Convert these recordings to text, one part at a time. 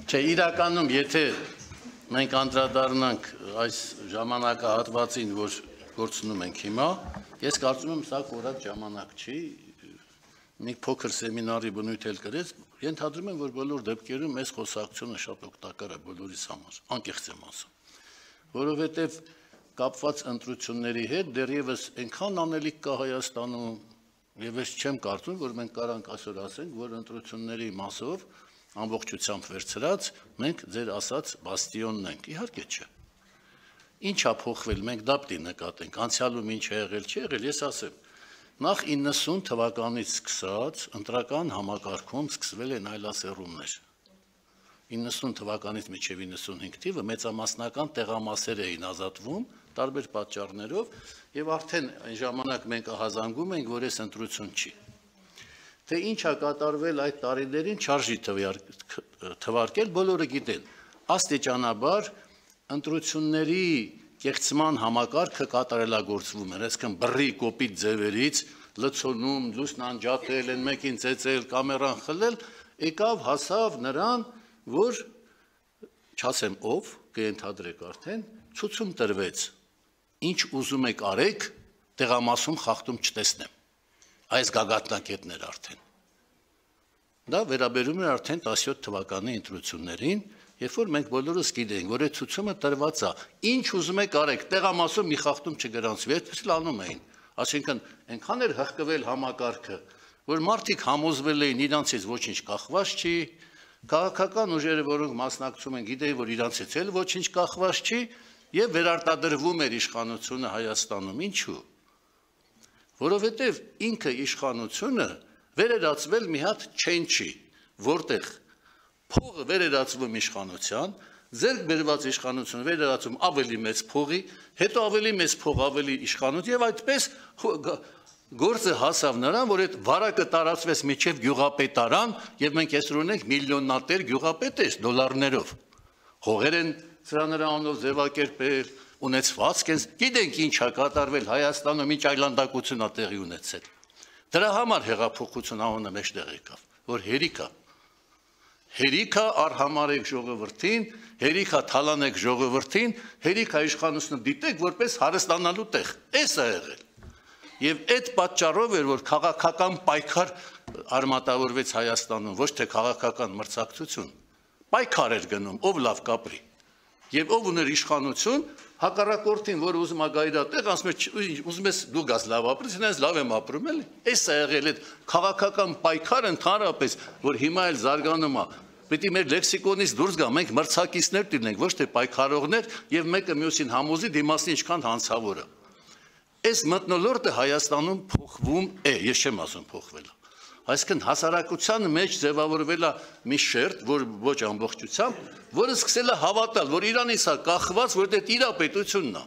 Չէ, իրականում, եթե մենք անդրադառնանք այս ժամանակահատվածին, որ գործնում ենք հիմա, ես կարծում եմ, սա կորած ժամանակ չի, մի փոքր սեմինարի բնույթ էլ կրեց, ենթադրում եմ, որ բոլոր դեպքերում այս խոսակցությունը շատ օգտակար է բոլորիս համար, անկեղծ եմ ասում, որովհետև կապված ընտրությունների հետ դեռևս այնքան անելիք կա Հայաստանում, եւ ես չեմ կարծում, որ մենք կարանք այսօր ասենք, որ ընտրությունների մասով ամբողջությամբ վերցրած, մենք ձեր ասած բաստիոնն ենք, իհարկե չէ։ Ինչ է փոխվել, մենք դա պիտի նկատենք, անցյալում ինչ է եղել, չի եղել, ես ասեմ, նախ 90 թվականից սկսած ընտրական համակարգում սկսվել են այլասերումներ։ 90 թվականից մինչև 95 թիվը մեծամասնական տեղամասեր էին ազատվում տարբեր պատճառներով եւ արդեն այն ժամանակ մենք ահազանգում ենք, որ այս ընտրություն չի։ Թե ինչ է կատարվել այդ տարիներին չարժի թվարկել, բոլորը գիտեն։ Աստիճանաբար ընտրությունների կեղծման համակարգը կատարելագործվում է, այսինքն բռի կոպիտ ձևերից լցոնում, լուսն անջատել, են մեկին ծեծել, կամերան խլել, եկավ հասավ նրան, որ չասեմ ով, կենթադրեք արդեն, ցուցում տրվեց, ինչ ուզում եք արեք, տեղամասում խախտում չտեսնեմ, այս գագաթնակետներ արդեն, դա վերաբերում է արդեն 17 թվականի ընտրություններին, երբ որ մենք բոլորս գիտենք, որ այդ ցուցումը տրված է, ինչ ուզում եք արեք, տեղամասում մի խախտում չգրանցվի, այդպես անում էին, այսինքն այնքան էր հղկվել համակարգը, որ մարդիկ համոզվել էին իրանցից ոչինչ կախված չի, քաղաքական ուժերը, որոնք մասնակցում են, գիտեին, որ իրանցից էլ ոչինչ կախված չի, եւ վերարտադրվում էր իշխանությունը Հայաստանում, ինչու՞։ Որովհետեւ ինքը իշխանությունը վերերացվել մի հատ չենչի, որտեղ փողը վերերացվում իշխանության, ձեռք բերված իշխանությունը վերերացում ավելի մեծ փողի, հետո ավելի մեծ փող, ավելի իշխանություն եւ այդպես գործը հասավ նրան, որ այդ վարակը տարածվեց միջև գյուղապետարան եւ մենք այսօր ունենք միլիոնատեր գյուղապետեր դոլարներով։ Հողեր են սրա նրանով ձևակերպել, ունեցվածք են, գիտենք ինչ է կատարվել Հայաստանում, ինչ այլանդակություն է տեղի ունեցել։ Դրա համար հեղափոխություն անունը մեջտեղ եկավ, որ հերիքա արհամարեք ժողովրդին, հերիքա թալանեք ժողովրդին, հերիքա իշխանությունը դիտեք որպես հարստանալու տեղ։ Էս է եղել։ Եվ այդ պատճառով էր, որ քաղաքական պայքար արմատավորվեց Հայաստանում, ոչ թե քաղաքական մրցակցություն, պայքար էր գնում, ով լավ կապրի։ Եվ ով ուներ իշխանություն, հակառակորդին, որ ուզում է գայր այդտեղ, ասում է, ուզում ես դու գաս լավ ապրես, ինձ լավ եմ ապրում էլի։ Էս է եղել այդ քաղաքական պայքարը ընդհանրապես, որ հիմա էլ զարգանում է։ Պետք է մեր լեքսիկոնից դուրս գա, մենք մրցակիցներ դինենք, ոչ թե պայքարողներ, եւ մեկը մյուսին համոզի դիմասին ինչքան հանցավորը։ Այս մթնոլորտը Հայաստանում փոխվում է, ես չեմ ասում փոխվել է։ Այսինքն հասարակության մեջ ձևավորվել է մի շերտ, որ ոչ ամբողջությամբ, որը սկսել է հավատալ, որ Իրանից է կախված, որ դա իր պետությունն է,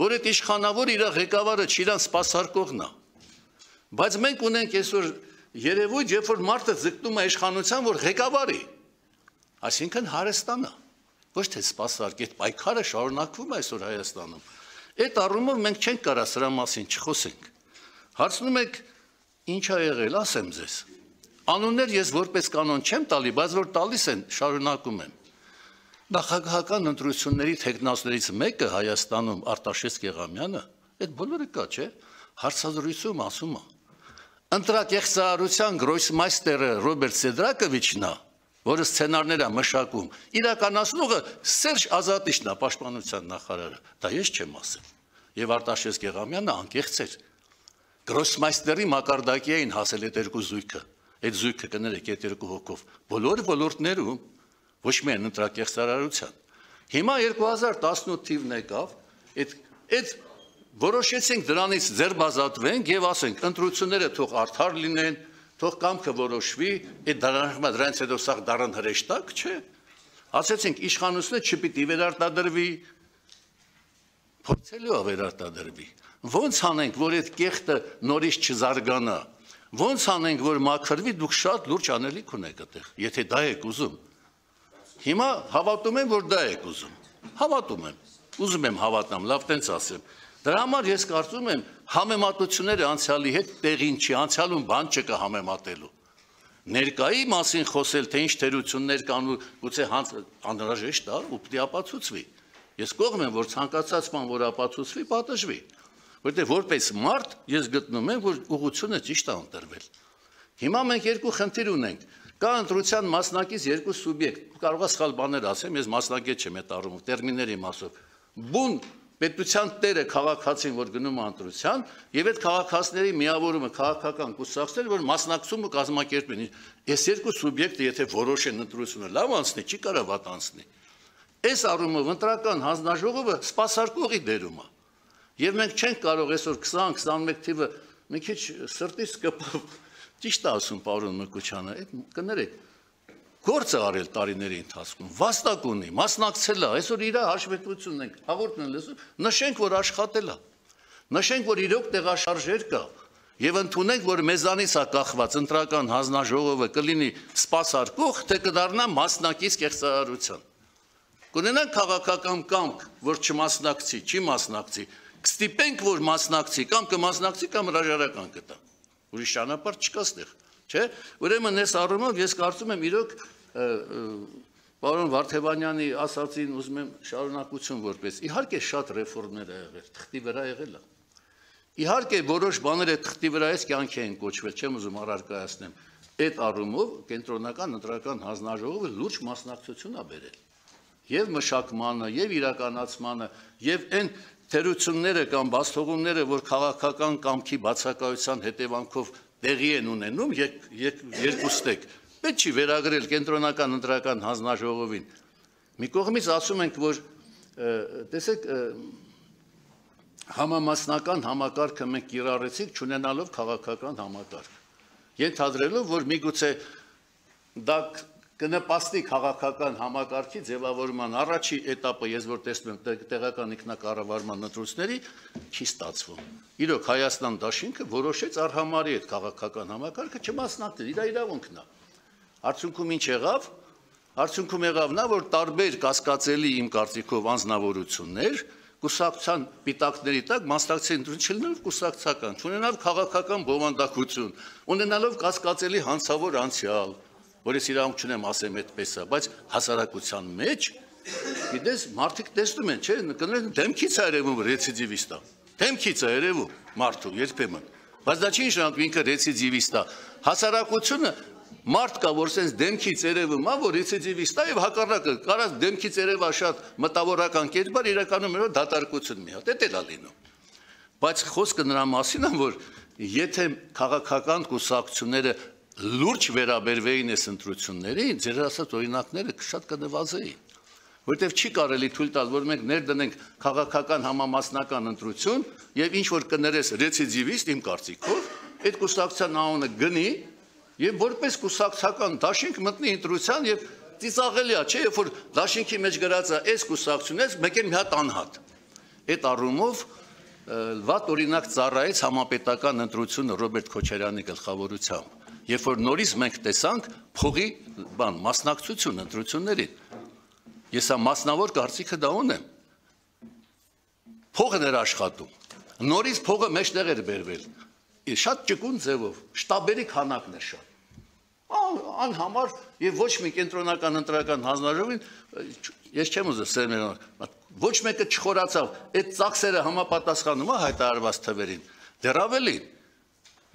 որ այդ իշխանավոր իր ղեկավարը չիրան սպասարկողն է։ Բայց մենք ունենք այսօր երևույթ, երբ որ մարդը ձգտում է իշխանության, որ ղեկավարի, այսինքն հարստանա, ոչ թե սպասարկ, այդ պայքարը շարունակվում է այսօր Հայաստանում։ Այդ առումով մենք չենք կարա սրա մասին չխոսենք։ Հարցնում եք ինչ է եղել, ասեմ ձեզ։ Անուններ ես որպես կանոն չեմ տալի, բայց որ տալիս են, շարունակում եմ։ Նախագահական ընտրությունների թեկնածուներից մեկը Հայաստանում Արտաշես Գեղամյանը, այդ բոլորը կա, չէ՞, հարցազրույցում ասում է։ Ընտրակեղծարարության գրոսմայստերը Ռոբերտ Սեդրակովիչն է, որը սցենարներ է մշակում, իրականացնողը Սերժ Ազատիչն է, պաշտպանության նախարարը, դա ես չեմ ասել։ Եվ Արտաշես Գեղամյանը անկեղծ էր։ Գրոսմայստերի մակարդակի էին հասել այդ երկու զույգը, այդ զույգը կներեք այդ երկու հոգով, բոլոր ոլորտներում, ոչ միայն ընտրակեղծարարության։ Հիմա 2018 թիվն եկավ, այդ որոշեցինք դրանից ձերբազատվենք եւ ասենք ընտրությունները թող արդար լինեն, թող կամքը որոշվի, այդ դրանից հետո սա դառն հրեշտակ, չէ։ Ասեցինք իշխանությունը չպիտի վերարտադրվի, փորձելու է վերարտադրվի։ Ոնց անենք, որ այդ կեղտը նորից չզարգանա, ոնց անենք, որ մաքրվի, դուք շատ լուրջ անելիք ունեք այդտեղ, եթե դա եք ուզում։ Հիմա հավատում եմ, որ դա եք ուզում։ Հավատում եմ, ուզում եմ հավատամ, լավ տենց ասեմ։ Դրա համար ես կարծում եմ համեմատությունները անցյալի հետ տեղին չի, անցյալում բան չկա համեմատելու։ Ներկայի մասին խոսել, թե ինչ թերություններ կան ու գուցե անհրաժեշտ է ու պետք է ապացուցվի։ Ես կողմ եմ, որ ցանկացած բան, որ ապացուցվի, պատժվի։ Որտեղ որպես մարդ ես գտնում եմ, որ ուղղությունը ճիշտ է ընտրվել։ Հիմա մենք երկու խնդիր ունենք։ Կա ընտրության մասնակից երկու սուբյեկտ։ Կարող է սխալ բաներ ասեմ, ես մասնակից չեմ այդ առումով, տերմինների մասով։ Բուն պետության տերը քաղաքացին, որ գնում է ընտրության, եւ այդ քաղաքացիների միավորումը քաղաքական կուսակցներ, որ մասնակցում ու կազմակերպեն։ Այս երկու սուբյեկտը, եթե որոշեն ընտրությունը լավ անցնի, չի կարող վատ անցնի։ Այս առումով ընտրական հանձնաժողովը սպասարկողի դերում է։ Եվ մենք չենք կարող այսօր 20-21 թիվը մի քիչ սրտից կպավ, ճիշտ է ասում պարոն Մկուչյանը, այդ կներեք, գործ է արել տարիների ընթացքում, վաստակ ունի, մասնակցել է, այսօր իր հաշվետվությունն ենք, հաղորդն են լսում, նշենք, որ աշխատել է, նշենք, որ իրոք տեղաշարժեր կա, եւ ընդունենք, որ մեզանից է կախված ընտրական հանձնաժողովը կլինի սպասարկող, թե կդառնա մասնակից կեղծարարության։ Կունենանք քաղաքական կամք, որ չմասնակցի, չի մասնակցի, կստիպենք, որ մասնակցի, կամ կմասնակցի, կամ հրաժարական կտա։ Ուրիշ ճանապարհ չկա ստեղ, չէ՞։ Ուրեմն այս առումով ես կարծում եմ իրոք պարոն Վարդևանյանի ասածին ուզում եմ շարունակություն որպես իհարկե շատ ռեֆորմներ ա եղել, թղթի վրա եղել է։ Իհարկե որոշ բաները թղթի վրա էս կյանքի են կոչվել, չեմ ուզում առարկայացնեմ։ Այդ առումով կենտրոնական ընտրական հանձնաժողովը լուրջ մասնակցություն ա բերել։ Եվ մշակմանը, եւ իրականացմանը, եւ այն թերությունները կամ բացթողումները, որ քաղաքական կամքի բացակայության հետևանքով տեղի են ունենում, երկուստեք, պետք չի վերագրել կենտրոնական ընտրական հանձնաժողովին։ Մի կողմից ասում ենք, որ տեսեք, համամասնական համակարգը մենք կիրառեցինք, չունենալով քաղաքական համակարգ։ Ենթադրելով, որ միգուցե դա կնպաստի քաղաքական համակարգի ձևավորման առաջի էտապը, ես որ տեսնում եմ տեղական ինքնակառավարման ընտրությունների, չի ստացվում։ Իրոք Հայաստան դաշինքը որոշեց արհամարի այդ քաղաքական համակարգը չմասնակցել, իր իրավունքն է։ Արդյունքում ինչ եղավ։ Արդյունքում եղավ նա, որ տարբեր կասկածելի իմ կարծիքով անձնավորություններ կուսակցության պիտակների տակ մասնակցեն ընտրություն չլինելով կուսակցական, չունենալով քաղաքական բովանդակություն, ունենալով կասկածելի հանցավոր անցյալ, որ ես իրավունք չունեմ ասեմ այդպես է, բայց հասարակության մեջ, գիտես, մարդիկ տեսնում են, չէ, կներեք դեմքից է երևում ռեցիդիվիստ է, դեմքից է երևում մարդու երբեմն, բայց դա չի նշանակում ինքը ռեցիդիվիստ է, հասարակությունը մարդ կա, որ սենց դեմքից երևում է, որ ռեցիդիվիստ է եւ հակառակը, կարած դեմքից երևա շատ մտավորական կերպար, իրականում երբ դատարկություն մի հատ, դա է լինում, բայց խոսքը նրա մասին է, որ եթե քաղաքական կուսակցությունները լուրջ վերաբերվեին այս ընտրություններին, ձեր ասած օրինակները շատ կնվազեին, որտեղ չի կարելի թույլ տալ, որ մենք ներդնենք քաղաքական համամասնական ընտրություն եւ ինչ որ կներես ռեցիդիվիստ իմ կարծիքով, այդ կուսակցության անունը գնի եւ որպես կուսակցական դաշինք մտնի ընտրության եւ ծիծաղելի է, չէ, երբ որ դաշինքի մեջ գրած է այս կուսակցությունից մեկ էլ մի հատ անհատ։ Այդ առումով վատ օրինակ ծառայեց համապետական ընտրությունը Ռոբերտ Քոչարյանի գլխավորությամբ։ Երբ որ նորից մենք տեսանք փողի մասնակցություն ընտրություններին, ես հա մասնավոր կարծիքը դա ունեմ, փողն էր աշխատում, նորից փողը մեջտեղ էր բերվել, շատ ճկուն ձևով, շտաբերի քանակն էր շատ, անհամար եւ ոչ մի կենտրոնական ընտրական հանձնաժողովին, ես չեմ ուզում սերմերան, ոչ մեկը չխորացավ, այդ ծախսերը համապատասխանում է հայտարարված թվերին, դեռ ավելին,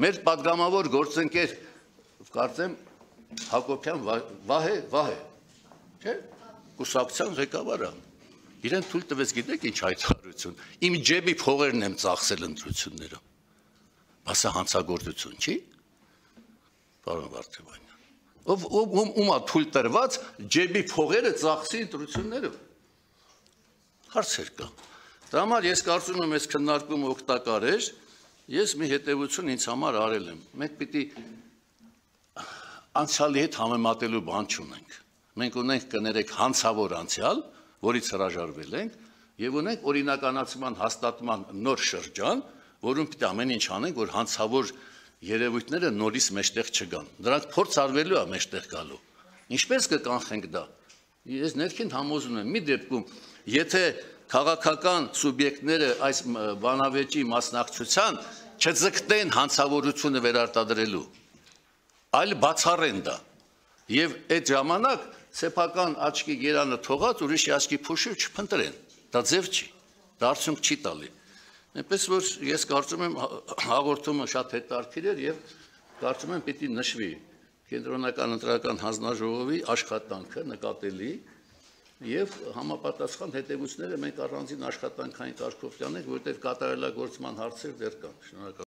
մեր պատգամավոր գործընկեր կարծեմ Հակոբյան Վահե, չէ, կուսակցության ղեկավարը, իրեն թույլ տվեց գիտեք ինչ հայտարարություն, իմ ջեբի փողերն եմ ծախսել ընտրություններում, բասա հանցագործություն չի, պարոն Վարդևանյան, ում է թույլ տրված ջեբի փողերը ծախսի ընտրություններում, հարցեր կա, դա համար ես կարծում եմ այս քննարկումը օգտակար էր, ես մի հետևություն ինձ համար արել եմ, մենք պիտի անցյալի հետ համեմատելու բան չունենք, մենք ունենք կներեք հանցավոր անցյալ, որից հրաժարվել ենք, եւ ունենք օրինականացման հաստատման նոր շրջան, որում պիտի ամեն ինչ անենք, որ հանցավոր երևույթները նորից մեջտեղ չգան, դրանք փորձ արվելու է մեջտեղ գալու, ինչպես կկանխենք դա, ես ներքին համոզում եմ, մի դեպքում, եթե քաղաքական սուբյեկտները այս բանավեճի մասնակցության չձգտեն հանցավորությունը վերարտադրելու, այլ բացառեն դա։ Եվ այդ ժամանակ սեփական աչքի գերանը թողած ուրիշի աչքի փոշը չփնտրեն։ Դա ձև չի, դա արդյունք չի տալի։ Այնպես որ ես կարծում եմ հաղորդումը շատ հետաքրքիր էր եւ կարծում եմ պիտի նշվի կենտրոնական ընտրական հանձնաժողովի աշխատանքը նկատելի եւ համապատասխան հետևությունները մենք առանձին աշխատանքային կարգով տանենք, որտեղ կատարելագործման հարցեր դեռ կան։ Շնորհակալ